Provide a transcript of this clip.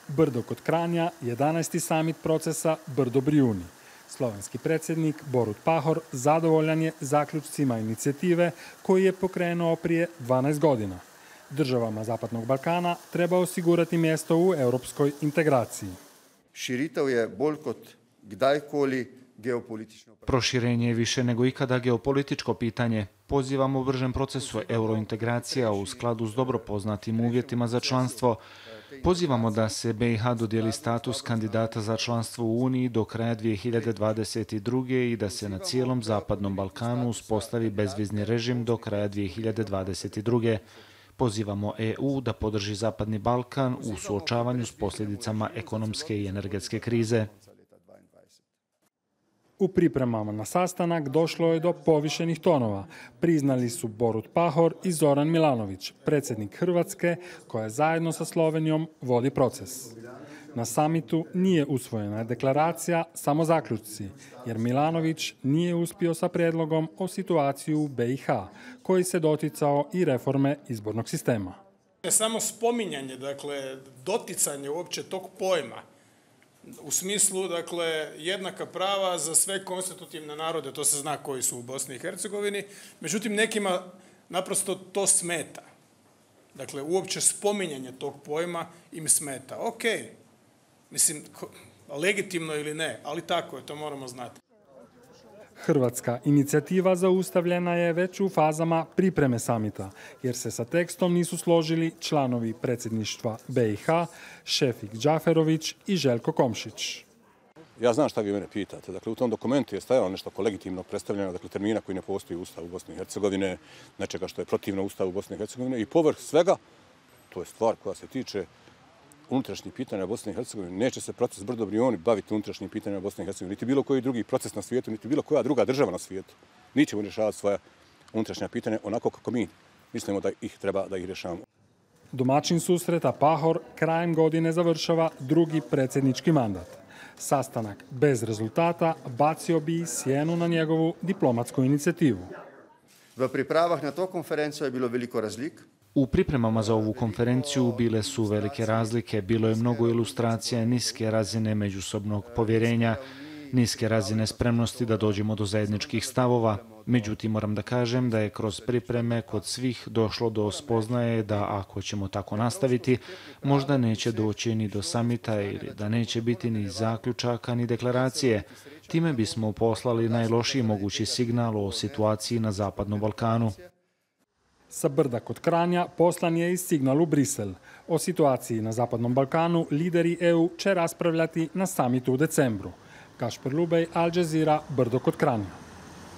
Brdo kod Kranja, 11. samit procesa Brdo-Brijuni. Slovenski predsjednik Borut Pahor zadovoljan je zaključcima inicijative koji je pokrenuo prije 12 godina. Državama Zapadnog Balkana treba osigurati mjesto u europskoj integraciji. Širitev je bolj kot kdajkoli geopolitično. Proširenje je više nego ikada geopolitičko pitanje. Pozivamo bržem procesu eurointegracija u skladu s dobro poznatim uvjetima za članstvo. Pozivamo da se BiH dodijeli status kandidata za članstvo u Uniji do kraja 2022. i da se na cijelom Zapadnom Balkanu uspostavi bezvizni režim do kraja 2022. Pozivamo EU da podrži Zapadni Balkan u suočavanju s posljedicama ekonomske i energetske krize. U pripremama na sastanak došlo je do povišenih tonova. Priznali su Borut Pahor i Zoran Milanović, predsjednik Hrvatske, koja zajedno sa Slovenijom vodi proces. Na samitu nije usvojena deklaracija, samo zaključci, jer Milanović nije uspio sa prijedlogom o situaciji u BiH, koji se doticao i reforme izbornog sistema. Samo spominjanje, doticanje uopće tog pojma, u smislu, jednaka prava za sve konstitutivne narode, to se zna koji su u Bosni i Hercegovini, međutim nekima naprosto to smeta. Uopće spominjanje tog pojma im smeta. Ok, mislim, legitimno ili ne, ali tako je, to moramo znati. Hrvatska inicijativa zaustavljena je već u fazama pripreme samita, jer se sa tekstom nisu složili članovi predsjedništva BiH, Šefik Džaferović i Željko Komšić. Ja znam šta vi mene pitate. U tom dokumentu je stajalo nešto legitimno predstavljeno, termina koji ne postoji u Ustavu Bosne i Hercegovine, nečega što je protivno Ustavu Bosne i Hercegovine i povrh svega, to je stvar koja se tiče unutrašnjih pitanja Bosne i Hercegovine. Neće se proces Brdo-Brijuni baviti unutrašnjim pitanjima Bosne i Hercegovine, niti bilo koji drugi proces na svijetu, niti bilo koja druga država na svijetu. Mi ćemo rješavati svoja unutrašnja pitanja onako kako mi mislimo da ih treba da ih rješavamo. Domaćin susreta Pahor krajem godine završava drugi predsjednički mandat. Sastanak bez rezultata bacio bi sjenu na njegovu diplomatsku inicijativu. V pripravah na to konferencijo je bilo veliko razlik. U pripremama za ovu konferenciju bile su velike razlike, bilo je mnogo ilustracija niske razine međusobnog povjerenja, niske razine spremnosti da dođemo do zajedničkih stavova. Međutim, moram da kažem da je kroz pripreme kod svih došlo do spoznaje da ako ćemo tako nastaviti, možda neće doći ni do samita ili da neće biti ni zaključaka ni deklaracije. Time bismo poslali najlošiji mogući signal o situaciji na Zapadnom Balkanu. Sa Brda kod Kranja poslan je i signal u Brisel. O situaciji na Zapadnom Balkanu lideri EU će raspravljati na samitu u decembru. Kašper Lubej, Al Jazeera, Brdo kod Kranja.